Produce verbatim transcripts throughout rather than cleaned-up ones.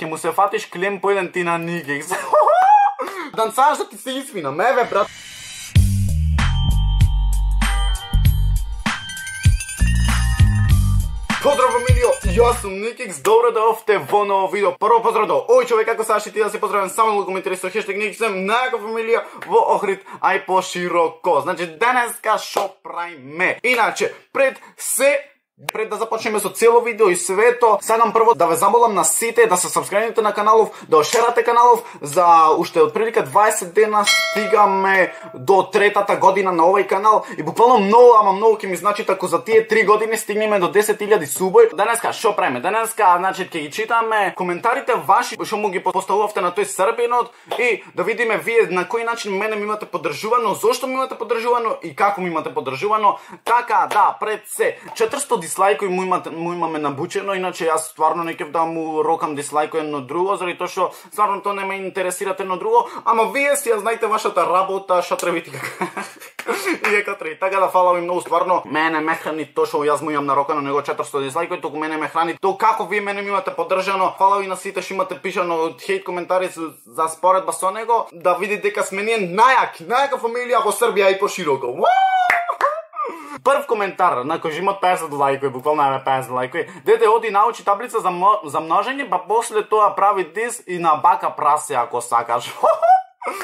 Ке му се фатиш клем по еден ти на Никекс. Данцаш да ти се извина, меве, брат. Поздрав, фамилио, јас сум Никекс, добро дојдовте во ново видео. Прво поздрав до ој човек, како саш и ти да се поздравам само да коментираш со хештег Никекс, најака фамилија во Охрид, ај пошироко. Значи, денеска шо правиме? Иначе, пред се Пред да започнеме со цело видео и свето, сакам прво да ве замолам на сите да се сабскрајбите на каналов, да ошерате каналов, за уште отприлика дваесет дена стигаме до третата година на овој канал и буквално многу, ама многу ќе ми значи ако за тие три години стигнеме до десет илјади субој. Денеска шо правиме? Денеска, значи, ќе ги читаме коментарите ваши што му ги поставувавте на тој србинот и да видиме вие на кој начин мене ми имате поддржувано, зошто ми имате поддржувано и како ми имате поддржувано. Така, да, пред се четиристо дислайкои му имате му имаме набучено, иначе јас стварно не ќе да му рокам дислайкој едно друго, заради тоа што стварно тоа не ме интересира едно друго, ама вие си ја знаете вашата работа, што требите како. И дека треба. Така да фала ви многу, стварно мене ме храни тоа што јас му имам нарокано него четиристо дислайкои, туку мене ме храни тоа како вие мене ми имате поддржано. Фала ви на сите што имате пишано хейт коментари за споредба со него, да видите дека сме ние најаки, најака фамилија во Србија и пошироко. Прв коментар, на кој има песет лајкови, буквално има песет лајкови. Дете оди научи таблица за, за множење, па после тоа прави дис и на бака прасе ако сакаш.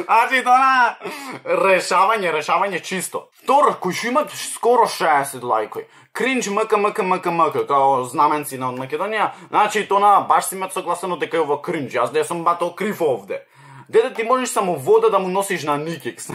Значи тоа решавање, решавање чисто. Втор, кој што има скоро шеесет лајкови. Кринч мк мк мк мк, као знаменци на Македонија. Значи тоа баш си имат согласено дека е во кринч. Јас не сум бато крив овде. Дете ти можеш само вода да му носиш на Никекс.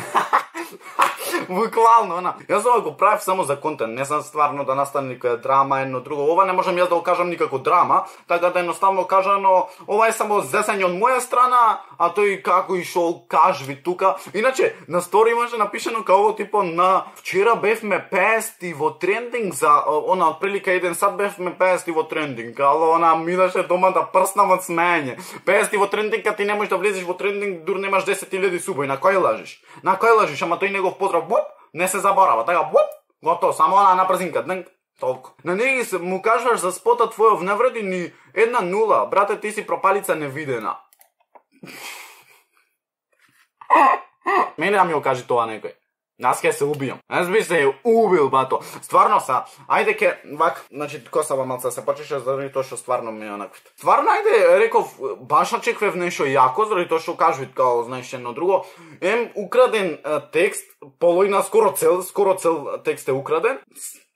Буквално, она. Јас ова го правев само за контент, не сам стварно да настане никоја драма, едно друго. Ова не можам јас да го кажам никако драма, така да едноставно кажано, ова е само зесење од моја страна, а тој како и шо кажви тука. Иначе, на стори имаше напишано како типо на вчера бевме пести во трендинг за она отприлика еден сат бевме пести во трендинг, ало она минаше дома да прснам од смење. Пести во трендинг, кога ти не можеш да влезеш во трендинг, дур немаш десет илјади субои. На кој лажиш? На кој лажиш? Ама тој негов поздрав, боп, не се заборава. Така, боп, готово, само она на брзинка, днк, толку. На неги му кажуваш за спота твојов не вреди ни една нула. Брате, ти си пропалица невидена. Мене да ми го кажи тоа некој. Аз ке се убијам. Аз би се убил, бато. Стварно са, ајде ке, вак, значи, косава малца се почеше заради тоа што стварно ми е онаквите. Стварно, ајде, реков, баш очеквев нешто јако, заради тоа што кажуват, као, знаеш, едно друго. Ем, украден е, текст, полојна скоро цел, скоро цел текст е украден.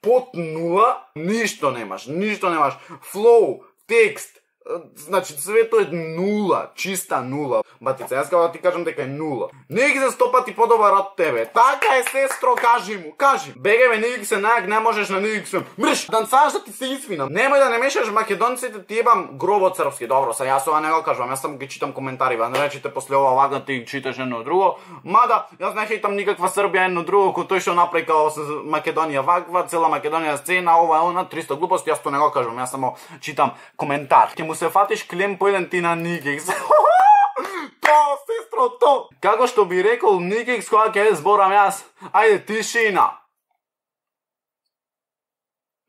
Под нула, ништо немаш, ништо немаш. Флоу, текст, значи, свето е нула, чиста нула. Батица, јас кога ти кажам дека е нула. Не ги за сто пати подобар од тебе. Така е, сестро, кажи му, кажи. Бегеве, не ги се најак, не можеш на не ги се. Мрш, данцаш да ти се извинам. Немој да не мешаш македонците, ти ебам гробот српски. Добро, са јас ова не го кажувам, јас само ги читам коментари, ба не речите после ова вага ти читаш едно друго. Мада, јас не хейтам никаква Србија едно друго, кој тој што направи као Македонија ваква, цела Македонија сцена, ова она, триста глупости, јас тоа не го кажувам, јас само читам коментар. Ке му се фатиш клем по еден ти на Никекс. То, сестро, то! Како што би рекол Никекс кога ќе зборам јас, ајде тишина.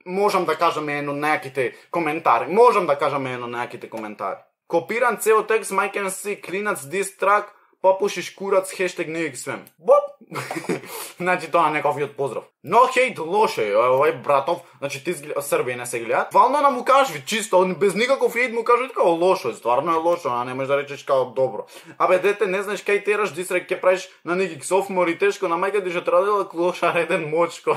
Можам да кажам едно најаките коментари. Можам да кажам едно најаките коментари. Копиран цел текст, I can see клинац diss track, попушиш курац, хештег Никекс свем. Боп! Значи тоа нековиот поздрав. Но хейт лоше, овој братов, значи ти Србија не се гледат. Вално на му кажи, чисто, без никаков хейт му кажи како лошо е, стварно е лошо, а не можеш да речеш како добро. Абе дете, не знаеш кај тераш дисрек ќе правиш на Никекс софмор и тешко на мајка ти што традила клоша реден мочко.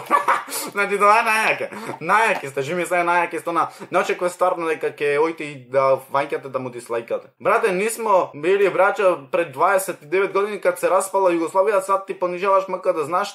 Значи тоа е најаке. Најаке сте, жими се најаке сте на. Не очекувам стварно дека ќе ојте и да вајкате да му дислайкате. Брате, нисмо били браќа пред дваесет и девет години кога се распала Југославија, сад ти понижаваш мака да знаеш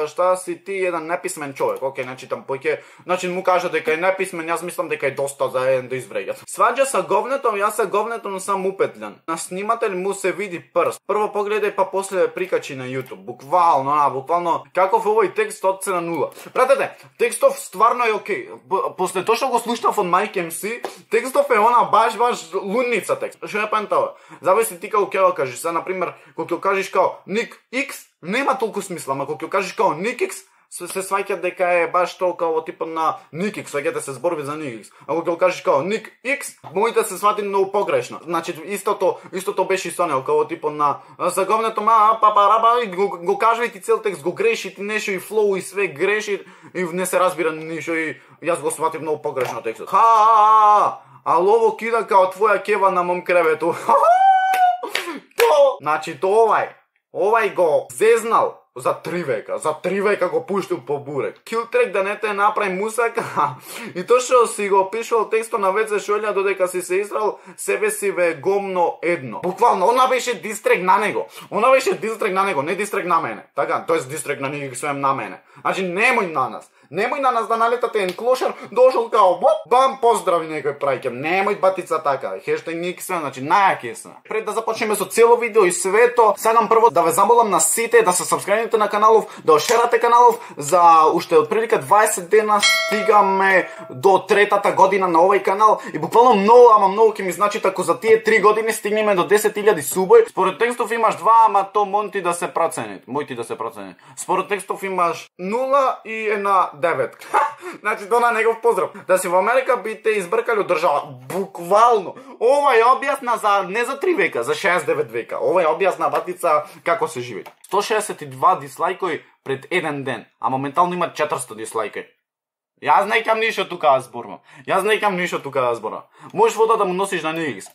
шта си ти еден неписмен човек. Океј, значи там поќе, значи му кажа дека е неписмен, јас мислам дека е доста за еден да извреѓат. Сваѓа са говнето, јас са говнето, но сам упетљан. На снимател му се види прст. Прво погледај па после прикачи на YouTube. Буквално, а, буквално каков овој текст од се на нула. Пратете, текстов стварно е окей. После тоа што го слушнав од Майк ем си, текстов е она баш баш лунница текст. Што е пентава? Зависи ти како ќе го кажеш. Са на пример, кога ќе кажеш као Ник X, нема толку смисла, ама кога ќе кажеш као Никекс, се, се сваќа дека е баш тоа као типот на Ник Икс, сваќате се зборови за Ник Икс. Ако ќе кажеш као Ник Икс, моите се свати многу погрешно. Значи истото, истото беше со него, као типот на заговнето ма папа раба и го, го кажувај ти цел текст, го греши ти нешто и флоу и све греши и не се разбира ништо и јас го сватив многу погрешно текстот. Ха! А лово кида као твоја кева на мом кревето. То, значи то овај, овај го зезнал за три века, за три века го пуштил по бурек. Килтрек да не те направи мусака и то што си го пишувал текстот на веце шолја додека си се истрал, себе си ве гомно едно. Буквално, она беше дистрек на него. Она беше дистрек на него, не дистрек на мене. Така, тоест дистрек на Ник Икс на мене. Значи немој на нас. Немој на нас да налетате ен клошар, дошол као боп, бам, поздрави некој прајќам. Немој батица така. Хештег Ник Икс, значи најаки сме. Пред да започнеме со цело видео и свето, сакам прво да ве замолам на сите да се сабскрајбите на каналов, да ошерате каналов, за уште отприлика дваесет дена стигаме до третата година на овој канал и буквално многу, ама многу ќе ми значи ако за тие три години стигнеме до десет илјади субој. Според текстов имаш два, ама то монти да се проценит. Мојти да се проценит. Според текстов имаш нула и една девет. Значи то на негов поздрав. Да си во Америка би те избркали од држава. Буквално. Ова е објасна за не за три века, за шеесет и девет века. Ова е објасна батица како се живее. сто шеесет и два дислајкои пред еден ден, а моментално има четиристо дислајкои. Јас не ќам ништо тука да зборувам. Јас не ќам ништо тука да зборувам. Можеш вода да му носиш на Ник Икс.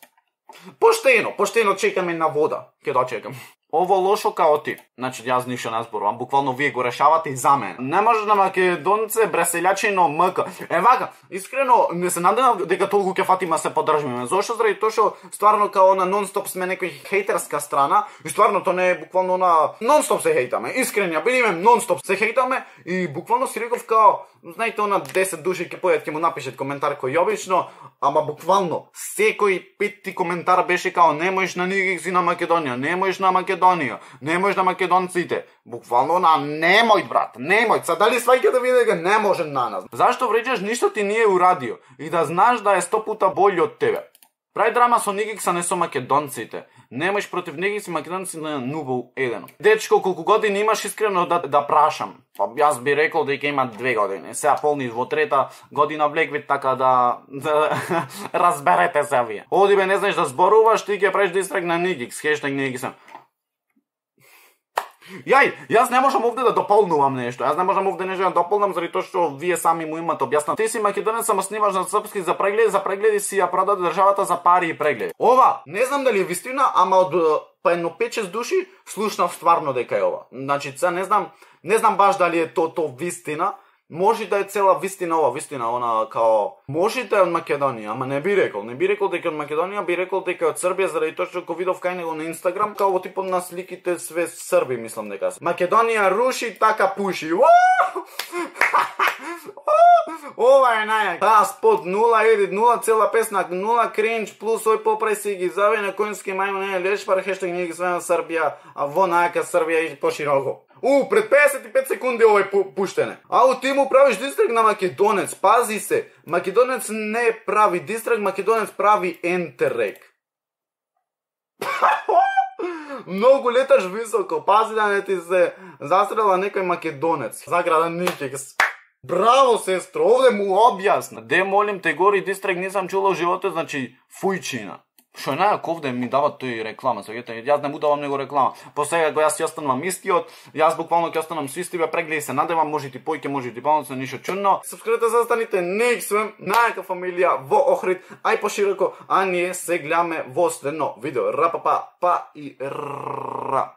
Поштено, поштено чекаме на вода. Ќе дочекам. Ово лошо као ти. Значи јас ништо не зборувам, буквално вие го решавате и за мене. Не може на македонце бреселјачино мк. Е вака, искрено не се надевам дека толку ќе фатиме се поддржиме. Зошто заради тоа што стварно као на нон-стоп сме некој хејтерска страна и стварно тоа не е буквално на нон-стоп се хејтаме. Искрено ја бидиме нон-стоп се хејтаме и буквално си реков као знаете она десет души ќе појат ќе му напишат коментар кој обично, ама буквално секој пети коментар беше као немојш на Ник Икс и на Македонија, немојш на Македонија, немојш на македонците. Буквално на немој брат, немој. Са дали сваќате да види дека не може на нас? Зашто вреđаш ништо ти не е урадио и да знаеш да е сто пута бољи од тебе. Прави драма со Ник Икс, а не со македонците. Немаш против Ник Икс и македонци на нула еден. Дечко, колку години имаш искрено да, да прашам? Па јас би рекол дека има две години. Сега полни во трета година влегви, така да, да разберете се вие. Оди бе, не знаеш да зборуваш, ти ќе правиш дистрек на Ник Икс, хештег Ник Икс. Јај, јас не можам овде да дополнувам нешто. Јас не можам овде нешто да дополнам заради тоа што вие сами му имате објаснато. Ти си македонец, само снимаш на српски за прегледи, за прегледи си ја продаде државата за пари и прегледи. Ова, не знам дали е вистина, ама од па едно пет-шест души слушнав стварно дека е ова. Значи, сега не знам, не знам баш дали е то то вистина. Може да е цела вистина ова, вистина, она као може да е од Македонија, ама не би рекол, не би рекол дека од Македонија, би рекол дека од Србија заради тоа што го видов кај него на Инстаграм, као во типот на сликите све срби, мислам дека се. Македонија руши, така пуши. Ова е најак. Таа спот нула едит, нула цела песна, нула кринч, плюс ој поправи си ги зави на коњски мајмун, не лешпар, хештег Ник Икс на Србија, а во најака Србија и пошироко. У, пред песет и пет секунди овој пу, пуштене. Ау, ти му правиш дистрек на македонец, пази се. Македонец не прави дистрек, македонец прави ентерек. Многу леташ високо, пази да не ти се застрела некој македонец. Заграда Ник Икс. Браво, сестро, овде му објасна. Де молим те гори дистрек нисам чула во животот, значи фујчина. Што е најак овде ми дават тој реклама, сеќате, јас не му давам него реклама. По сега го јас ќе останам истиот, јас буквално ќе останам со истиве прегледи, се надевам, може ти појќе, може ти помоцно, ништо чудно. Сабскрабете за останите Ник Икс, најака фамилија во Охрид, ај пошироко, а ние се гледаме во следно видео. Ра па па па и ра.